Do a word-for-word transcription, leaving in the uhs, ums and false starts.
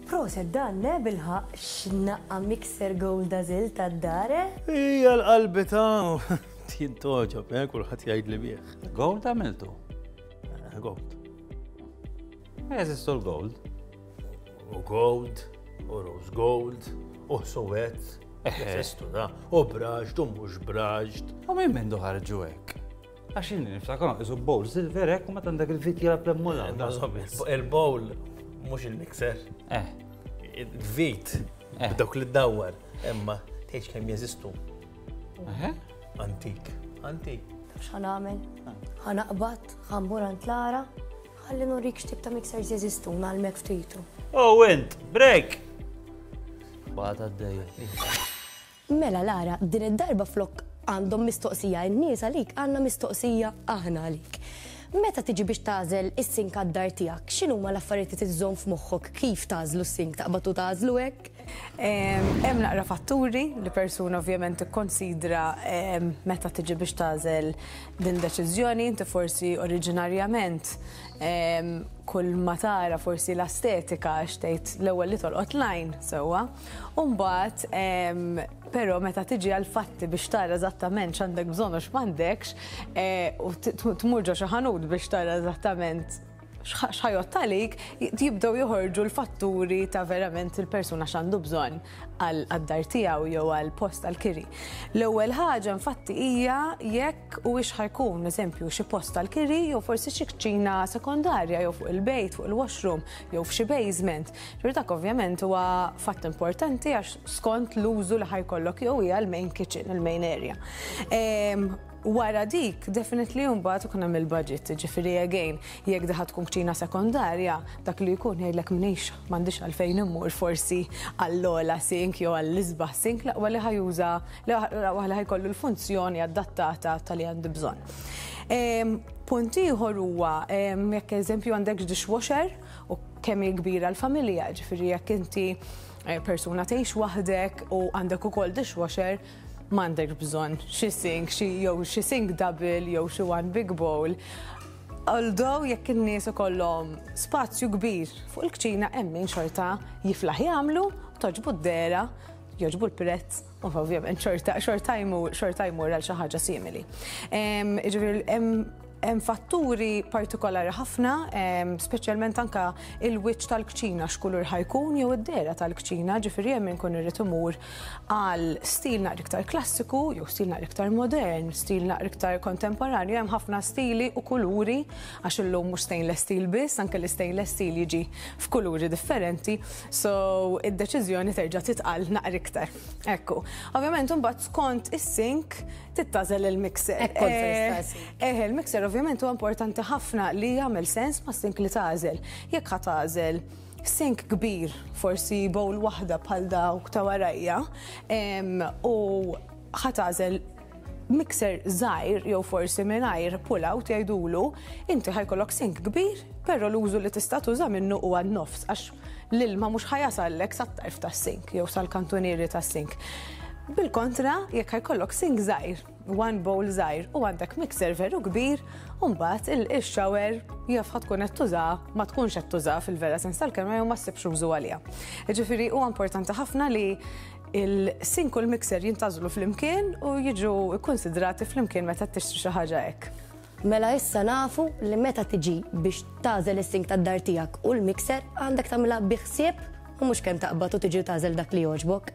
Prosit dan, ne bilħaqq x'naqqa mixer gold għażilt tad-dar, eh? Ija l-qalbi ta' jintogħġob, eh, kulħadd jgħid li bieħ. Gold għamiltu? Eh, Gold. Jeżistu l-gold. U gold, u rose gold, u suwed. Jeżistu da. U brushed, u mhux brushed. U minn mindu ħarġu hekk? Għax inni niftakar isu bowl silver hekk u meta għandek il-vit jilgħab l-emmula. Il-bowl mhux il-mixer. Eh, Il-vit, Eh. b'dawk li ddawwar. Imma tgħidx kemm jeżistu. eh? Antik. Antik. Taf x'ħa nagħmel? Ħa naqbad, ħa mmur għand Lara, ħalli nurik x'tip ta' mixers jeżistu ngħallmek ftitu. Oh, int, break! Bata d-dejja. Mela Lara, din id-darba flok għandhom mistoqsija n-nies għalik, għandna mistoqsija aħna għalik. Meta tiġi biex tagħżel is-sink għad-dar tiegħek, x'inhuma l-affarijiet li tiżżomm f'moħħok kif tagħżlu s-sink taqbad u tagħżlu hekk? Hemm naqra fatturi li persuna ovvjament tikkonsidra em, meta tiġi biex tagħżel din deċiżjoni, inti forsi oriġinarjament em, kull ma tara forsi l-estetika għax tgħid l-ewwel li tolqot l-għajn sewwa. U mbagħad em, però meta tiġi għal fatti biex tara eżattament x'għandek bżonn u x'm'għandekx, eh, u t- tmur ġo xi ħanut biex tara eżattament x'ħa jgħodd għalik, jibdew joħorġu l-fatturi ta' verament il-persuna x'għandu bżonn għad-dar tiegħu jew għal post għal-kiri. L-ewwel ħaġa infatti hija jekk huwiex ħa jkun eżempju xi post għal-kiri jew forsi xi kċina sekondarja jew fuq il-bejt, fuq il-washroom jew f'xi basement. Ġifieri dak ovvjament huwa fatt importanti għax skont l-użu li ħa jkollok jew hija l-main kitchen, il-main area. Em, Wara dik, definitely mbagħad ikun hemm il-budget, ġifieri again, jekk diħa tkun kċina sekondarja, dak li jkun jgħidlek mnix m'għandix għalfejn immur forsi għall-ogħla sink jew għall-isbaħ sink, l-aqwa li ħa juża, l-aqwa li ħa jkollu l-funzjoni adattata tal-li għandi bżonn. Em, Punt ieħor huwa em, jekk eżempju għandek dishwasher u kemm hi kbira l-familja, ġifieri jekk inti eh, persuna tgħix waħdek u għandek ukoll dishwasher, m'għandek bżonn xi sink, xi jew xi sink double jew xi one big bowl. Although jekk in-nies ikollhom spazju kbir fuq il-kċina hemm min xorta jiflaħ jagħmlu, togħġbu d-dehra, jogħġbu l-prezz, u ovvjament xorta xorta jmur xorta jmur għal xi ħaġa simili. Em, Jiġifieri hemm hemm fatturi partikolari ħafna, em, speċjalment anka il-wiċċ tal-kċina x'kulur ħa jkun jew id-dehra tal-kċina, ġifieri hemm inkun irid imur għal stil naqra iktar klassiku jew stil naqra iktar modern, stil naqra iktar kontemporanju, hemm ħafna stili u kuluri għax illum mhux stainless steel biss, anke l-stainless steel jiġi f'kuluri differenti, so id-deċiżjoni terġa' titqal naqra iktar. Ekku. Ovvjament imbagħad skont is-sink tintgħażel il-mixer. Ekku kont se Eh, nistaqsi. Eh, il-mixer ovvjament huwa importanti ħafna li jagħmel sens ma' sink li tagħżel. Jekk ħa tagħżel sink kbir, forsi bowl waħda bħal dawk ta' warajja, em, u ħa tagħżel mixer żgħir jew forsi mingħajr pull-out jgħidulu, inti ħa jkollok sink kbir, però l-użu li tista' tuża minnu huwa n-nofs għax l-ilma mhux ħa jasallek sat-tarf tas-sink jew sal-kantunieri tas-sink. Bil-kontra, jekk ħa jkollok sink żgħir, one bowl żgħir u għandek mixer veru kbir, u mbagħad il-shower jaf ħa tkun qed tuża, ma tkunx qed tuża fil-vera sens tal-kelma jew ma ssibx użu għaliha. Jiġifieri huwa importanti ħafna li il-sink u l-mixer jintgħażlu flimkien u jiġu konsidrati flimkien meta tixtri xi ħaġa hekk. Mela issa nafu li meta tiġi biex tagħżel is-sink tad-dar tiegħek u l-mixer għandek tagħmilha bi ħsieb u mhux kemm taqbad u tiġi tagħżel dak li jogħġbok.